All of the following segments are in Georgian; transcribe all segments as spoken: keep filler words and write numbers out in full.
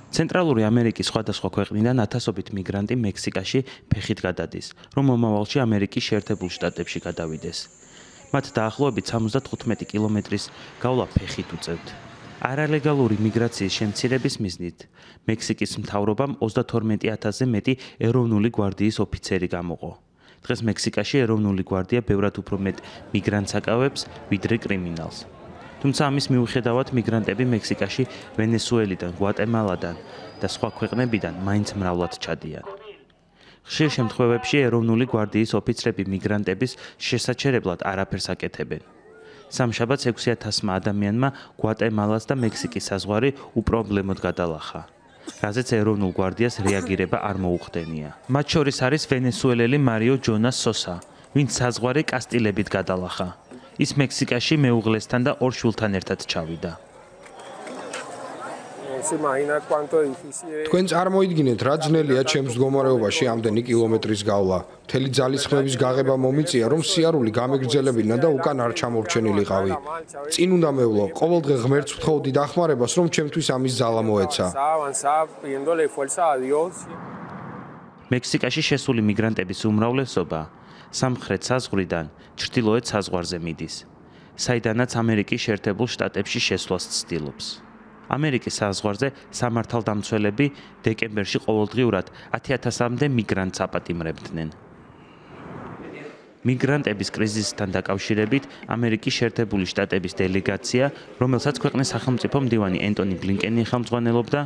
ცენტრალური ამერიკის სხვადასხვა ქვეყნიდან ათასობით მიგრანტი მექსიკაში ფეხით გადადის, რომ მომავალში ამერიკის შეერთებულ შტატებში გადავიდეს. მათ დაახლოებით სამოცდათხუთმეტი კილომეტრის გავლა ფეხით უწევთ. არალეგალური მიგრაციის შემცირების მიზნით მექსიკის მთავრობამ ოცდათორმეტი ათასზე მეტი ეროვნული გვარდიის ოფიცერი გამოყო. დღეს მექსიკაში ეროვნული გვარდია ბევრად უფრო მეტ მიგრანტს აკავებს, ვიდრე კრიმინალს. თუმცა ამის მიუხედავად მიგრანტები მექსიკაში ვენესუელიდან, გვატემალადან და სხვა ქვეყნებიდან მაინც მრავლად ჩადიან. ხშირ შემთხვევებში ეროვნული გვარდიის ოფიცრები მიგრანტების შესაჩერებლად არაფერს აკეთებენ. სამშაბათს ექვსი ათასმა ადამიანმა გვატემალას და მექსიკის საზღვარი უპრობლემოდ გადალახა, რაზეც ეროვნულ გვარდიას რეაგირება არ მოუხდენია. მათ შორის არის ვენესუელელი მარიო ჯონას სოსა, ვინც საზღვარი კასტილებით გადალახა. ის მექსიკაში მეუღლესთან და ორ შვილთან ერთად ჩავიდა. თქვენ წარმოიდგინეთ, რა ძნელია ჩემს მდგომარეობაში ამდენი კილომეტრის გავლა. მთელი ძალისხმების გაღება მომიწია, რომ სიარული გამეგრძელებინა და უკან არ ჩამორჩენილიყავი. წინ უნდა მევლო, ყოველდღე ღმერთს ვთხოვდი დახმარებას, რომ ჩემთვის ამის ძალა მოეცა. მექსიკაში შესული მიგრანტების უმრავლესობა სამხრეთ საზღვრიდან ჩრდილოეთ საზღვარზე მიდის, საიდანაც ამერიკის შეერთებულ შტატებში შესვლას ცდილობს. ამერიკის საზღვარზე სამართალდამცველები დეკემბერში ყოველდღიურად ათი ათასამდე მიგრანტს აპატიმრებდნენ. მიგრანტების კრიზისთან დაკავშირებით ამერიკის შეერთებული შტატების დელეგაცია, რომელსაც ქვეყნის სახელმწიფო მდივანი ენტონი ბლინკენი ხელმძღვანელობდა,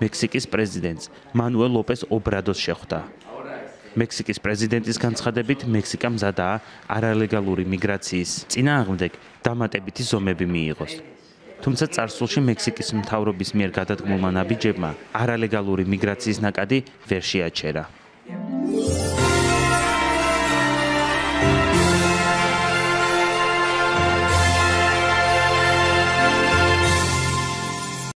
მექსიკის პრეზიდენტს მანუელ ლოპეს ობრადოს შეხვდა. მექსიკის პრეზიდენტის განცხადებით, მექსიკა მზადაა არალეგალური მიგრაციის წინააღმდეგ დამატებითი ზომები მიიღოს. თუმცა წარსულში მექსიკის მთავრობის მიერ გადადგმულმა ნაბიჯებმა არალეგალური მიგრაციის ნაკადი ვერ შეაჩერა.